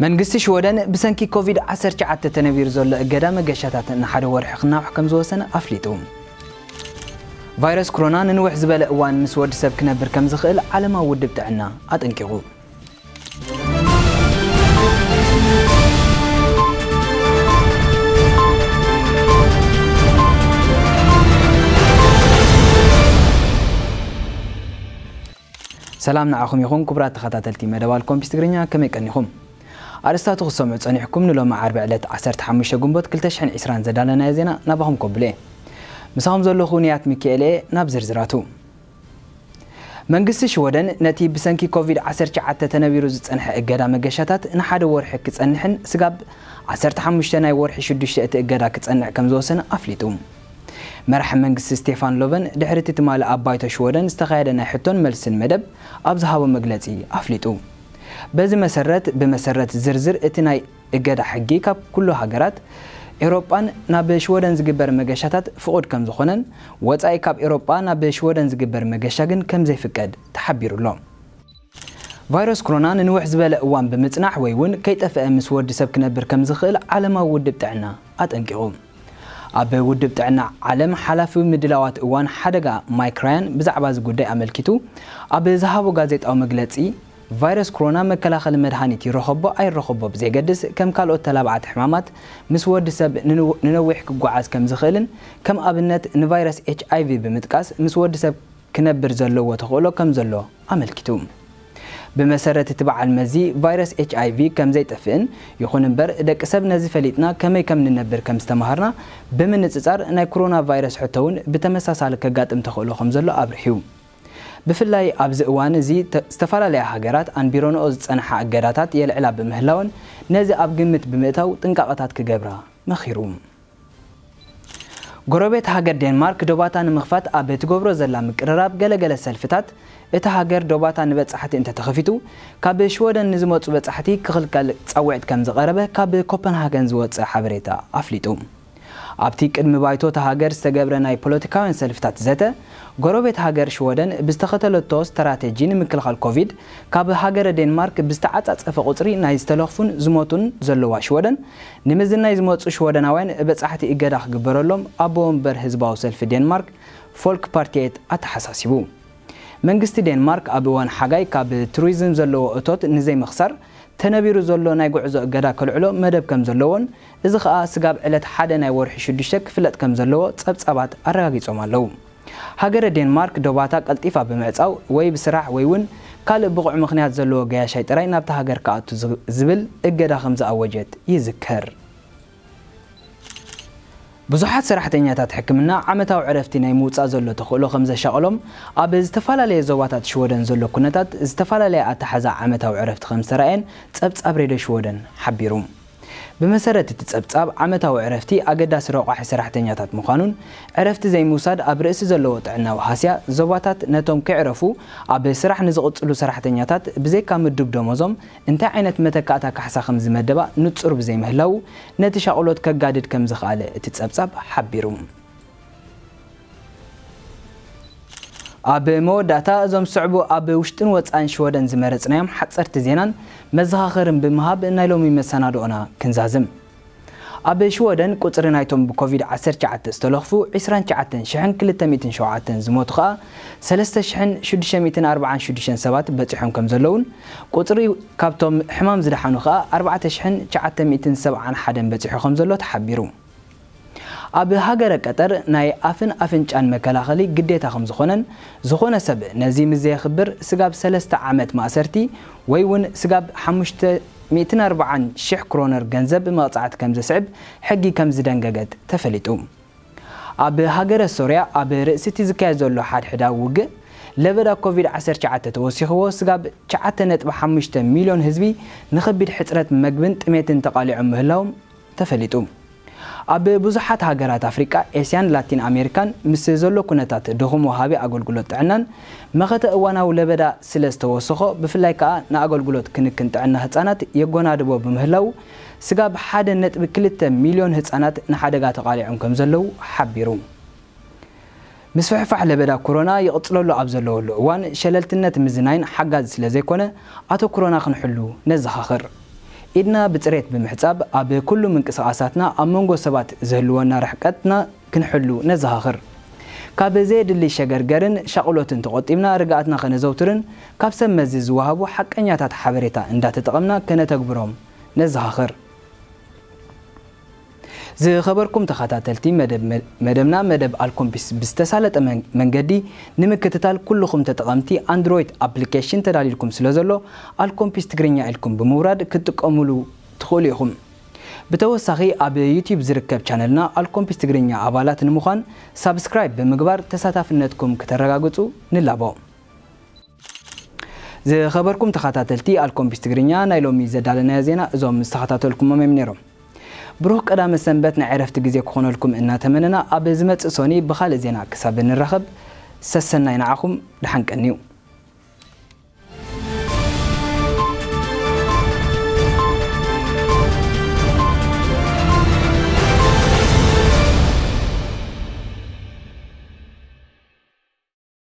መንግስቲ ሽወደን ብሰንኪ ኮቪድ ዓሰርተ ትሽዓተ ተነቢሩ ዘሎ እገዳ መገሻታት ንሓደ ወርሒ ክናውሕ ከም ዝወሰነ ኣፍሊጡ። ቫይረስ ኮሮና ንንውሕ ዝበለ እዋን ምስ ወዲ ሰብ ክነብር ከም ዝኽእል ዓለማዊ ውድብ ጥዕና ኣጠንቂቑ። ሰላም ንዓኹም ይኹን ክቡራት ተኸታተልቲ መደብ ኣልኮምፒስ ትግርኛ፣ ከመይ ቀኒኹም? ኣርእስታቱ ክትሰምዑ ጸኒሕኩም። ንሎሚ ዓርቢ ዕለት ዓሰርተ ሓሙሽተ ግንቦት ክልተ ሽሕን ዕስራን ዘዳለናዮ ዜና ናባኹም ከብሎ እየ። ምሳኹም ዘለኹ ንያት ሚካኤል እየ። ናብ ዝርዝራቱ። መንግስቲ ሽወደን ነቲ ብሰንኪ ኮቪድ ዓሰርተ ትሽዓተ ተነቢሩ ዝጸንሐ እገዳ መገሻታት ንሓደ ወርሒ ክጸንሕን ስጋብ ዓሰርተ ሓሙሽተ ናይ ወርሒ ሽዱሽተ እቲ እገዳ ክጸንዕ ከም ዝወሰነ ኣፍሊጡ። መራሒ መንግስቲ ስቴፋን ሎቨን ድሕሪ እቲ ትማሊ ኣብ ባይቶ ሽወደን ዝተኻየደ ናይ ሕቶን መልስን መደብ ኣብ ዝሃቦ መግለጺ ኣፍሊጡ። በዚ መሰረት፣ ብመሰረት ዝርዝር እቲ ናይ እገዳ ሕጊ ካብ ኩሉ ሃገራት ኤውሮጳን ናብ ሽወደን ዝግበር መገሻታት ፍቑድ ከም ዝኾነን፣ ወጻኢ ካብ ኤውሮጳ ናብ ሽወደን ዝግበር መገሻ ግን ከም ዘይፍቀድ ተሓቢሩ ኣሎ። ቫይረስ ኮሮና ንንውሕ ዝበለ እዋን ብምጽናሕ ወይ እውን ከይጠፍአ ምስ ወዲ ሰብ ክነብር ከም ዝኽእል ዓለማዊ ውድብ ጥዕና ኣጠንቂቑ። ኣብ ውድብ ጥዕና ዓለም ሓላፊ ምድላዋት እዋን ሓደጋ ማይክ ራያን ብዛዕባ እዚ ጉዳይ ኣመልኪቱ ኣብ ዝሃቦ ጋዜጣዊ መግለጺ፣ ቫይረስ ኮሮና መከላኸሊ መድሃኒት ይረኸቦ ኣይረኸቦ ብዘይገድስ፣ ከም ካልኦት ተላባዕቲ ሕማማት ምስ ወዲ ሰብ ንንው-፣ ንነዊሕ ክጓዓዝ ከም ዝኽእልን፣ ከም ኣብነት ንቫይረስ ኤች ኣይ ቪ ብምጥቃስ ምስ ወዲ ሰብ ክነብር ዘለዎ ተኽእሎ ከም ዘሎ ኣመልኪቱ። ብመሰረት እቲ በዓል መዚ፣ ቫይረስ ኤች ኣይ ቪ ከም ዘይጠፍእን፣ ይኹን እምበር ደቂ ሰብ ነዚ ፈሊጥና ከመይ ከም ንነብር ከም ዝተማሃርና ብምንጽጻር፣ ናይ ኮሮና ቫይረስ ሕቶ እውን ብተመሳሳሊ ከጋጥም ተኽእሎ ከም ዘሎ ኣብሪሁ። ብፍላይ ኣብዚ እዋን እዚ ተ-፣ ዝተፈላለያ ሃገራት ኣንቢረንኦ ዝጸንሓ እገዳታት የልዕላ ብምህላወን፣ ነዚ ኣብ ግምት ብምእታው ጥንቃቐታት ክገብራ መኺሩ። ጎረቤት ሃገር ዴንማርክ ዶባታ ንምኽፋት ኣብ እትገብሮ ዘላ ምቅርራብ፣ ገለገለ ሰልፍታት እታ ሃገር ዶባታ ንበጻሕቲ እንተተኸፊቱ፣ ካብ ሽወደን ንዝመጹ በጻሕቲ ክኽልከል ጻውዒት ከም ዝቐረበ ካብ ኮፐንሃገን ዝወጸ ሓበሬታ ኣፍሊጡ። ኣብቲ ቅድሚ ባይቶ እታ ሃገር ዝተገብረ ናይ ፖለቲካውያን ሰልፍታት ዘተ፣ ጎረቤት ሃገር ሽወደን ብዝተኸተለቶ ስትራቴጂ ንምክልኻል ኮቪድ፣ ካብ ሃገረ ዴንማርክ ብዝተዓጻጸፈ ቁጽሪ ናይ ዝተለኽፉን ዝሞቱን ዘለዋ ሽወደን፣ ንምዝናይ ዝመጹ ሽወደናውያን በጻሕቲ እገዳ ክግበረሎም ኣቦ ወንበር ህዝባዊ ሰልፊ ዴንማርክ፣ ፎልክ ፓርቲየት፣ ኣተሓሳሲቡ። መንግስቲ ዴንማርክ ኣብ እዋን ሓጋይ ካብ ቱሪዝም ዘለዎ እቶት ንዘይምኽሳር ተነቢሩ ዘሎ ናይ ጉዕዞ እገዳ ከልዕሎ መደብ ከም ዘለዎን፣ እዚ ኸኣ ስጋብ ዕለት ሓደ ናይ ወርሒ ሽዱሽተ ክፍለጥ ከም ዘለዎ ጸብጻባት ኣረጋጊጾም ኣለዉ። ሃገረ ዴንማርክ ዶባታ ቀልጢፋ ብምዕጻው ወይ ብስራሕ ወይ እውን ካልእ ብቑዕ ምኽንያት ዘለዎ ገያሻይ ጥራይ ናብታ ሃገር ክኣቱ ዝ-፣ ዝብል እገዳ ከም ዝኣወጀት ይዝከር። ብዙሓት ሰራሕተኛታት ሕክምና ዓመታዊ ዕረፍቲ ናይ ምውጻእ ዘሎ ተኽእሎ ከም ዘሻቕሎም ኣብ ዝተፈላለየ ዞባታት ሽወደን ዘሎ ኩነታት ዝተፈላለየ ኣተሓዛ ዓመታዊ ዕረፍቲ ከም ዝተራእየን ጸብጻብ ሬድዮ ሽወደን ሓቢሩ። ብመሰረት እቲ ጸብጻብ፣ ዓመታዊ ዕረፍቲ ኣገዳሲ ረቋሒ ሰራሕተኛታት ምዃኑን፣ ዕረፍቲ ዘይምውሳድ ኣብ ርእሲ ዘለዎ ጥዕናዊ ሃስያ ዞባታት ነቶም ከይዕረፉ ኣብ ስራሕ ንዝቕጽሉ ሰራሕተኛታት ብዘይካ ምዱብ ደሞዞም እንታይ ዓይነት መተካእታ ካሕሳ ከም ዝመደባ ንጹር ብዘይምህላዉ፣ ነቲ ሻቕሎት ከጋድድ ከም ዝኸኣለ እቲ ጸብጻብ ሓቢሩ። ኣብ መወዳእታ፣ እዞም ዝስዕቡ ኣብ ውሽጥን ወጻእን ሽወደን ዝመረጽናዮም ሓጸርቲ ዜናን መዘኻኸርን ብምሃብ ናይ ሎሚ መሰናድኦና ክንዛዝም። ኣብ ሽወደን ቁጽሪ ናይቶም ብኮቪድ ዓሰርተ ትሽዓተ ዝተለኽፉ ዕስራን ትሽዓተን ሽሕን ክልተ ሚእትን ሸውዓተን፣ ዝሞቱ ከኣ ሰለስተ ሽሕን ሽዱሽተ ሚእትን ኣርባዓን ሽዱሽተን ሰባት በጺሖም ከም ዘለዉን፣ ቁጽሪ ካብቶም ሕማም ዝደሓኑ ከኣ ኣርባዕተ ሽሕን ትሽዓተ ሚእትን ሰብዓን ሓደን በጺሑ ከም ዘሎ ተሓቢሩ። ኣብ ሃገረ ቀጠር ናይ ኣፍን ኣፍንጫን መከላኸሊ ግዴታ ከም ዝኾነን፣ ዝኾነ ሰብ ነዚ ምስ ዘየኽብር ስጋብ ሰለስተ ዓመት ማእሰርቲ ወይ እውን ስጋብ ሓሙሽተ ሚእትን ኣርባዓን ሽሕ ክሮነር ገንዘብ መቕጻዕቲ ከም ዘስዕብ ሕጊ ከም ዝደንገገት ተፈሊጡ። ኣብ ሃገረ ሶርያ ኣብ ርእሲ እቲ ዝካየድ ዘሎ ሓድሕዳዊ ውግእ፣ ለበዳ ኮቪድ ዓሰርተ ትሽዓተ ተወሲኽዎ ስጋብ ትሽዓተ ነጥቢ ሓሙሽተ ሚልዮን ህዝቢ ንኸቢድ ሕጽረት መግብን ጥሜትን ተቓሊዖም ምህላዎም ተፈሊጡ። ኣብ ብዙሓት ሃገራት ኣፍሪቃ፣ ኤስያን ላቲን ኣሜሪካን ምስ ዘሎ ኩነታት ድኹም ወሃቢ ኣገልግሎት ጥዕናን መኸተ እዋናዊ ለበዳ ስለ ዝተወሰኾ፣ ብፍላይ ከኣ ንኣገልግሎት ክንክን ጥዕና ህጻናት የጎናድቦ ብምህላዉ፣ ስጋብ ሓደ ነጥቢ ክልተ ሚልዮን ህጻናት ንሓደጋ ተቓሊዖም ከም ዘለዉ ሓቢሩ። ምስፍሕፋሕ ለበዳ ኮሮና ይቕጽለሉ ኣብ ዘለወሉ እዋን፣ ሸለልትነት ምዝናይን ሓጋዚ ስለ ዘይኮነ፣ ኣተኩሮና ክንሕሉ ነዘኻኽር። ኢድና ብጽሬት ብምሕጻብ ኣብ ኩሉ ምንቅስቓሳትና ኣብ መንጎ ሰባት ዝህልወና ርሕቀትና ክንሕሉ ነዘኻኽር። ካብ ዘየድሊ ሸገርገርን ሻቕሎትን ተቖጢብና ርግኣትና ከነዘውትርን ካብ ሰብ መዚ ዝወሃቡ ሓቀኛታት ሓበሬታ እንዳተጠቐምና ከነተግብሮም ነዘኻኽር። ዝኸበርኩም ተኸታተልቲ መደብ መ- መደብና መደብ ኣልኮምፒስ ብዝተሳለጠ መን- መንገዲ ንምክትታል ኩልኹም ተጠቐምቲ ኣንድሮይድ ኣፕሊኬሽን ተዳሊልኩም ስለ ዘሎ ኣልኮምፒስ ትግርኛ ኢልኩም ብምውራድ ክትጥቀሙሉ ትኽእሉ ኢኹም። ብተወሳኺ ኣብ ዩቲዩብ ዝርከብ ቻነልና ኣልኮምፒስ ትግርኛ ኣባላት ንምዃን ሳብስክራይብ ብምግባር ተሳታፍነትኩም ክተረጋግጹ ንላቦ። ዝኸበርኩም ተኸታተልቲ ኣልኮምፒስ ትግርኛ ናይ ሎሚ ዘዳለናዮ ዜና እዞም ዝተኸታተልኩሞም እዮም ነይሮም። ብሩኽ ቀዳመ ሰንበት ናይ ዕረፍቲ ግዜ ክኾነልኩም እናተመነና ኣብ ዝመጽእ ሶኒ ብኻልእ ዜና ክሳብ ንራኸብ ሰሰናይ ንዓኹም ደሓን ቀንዩ።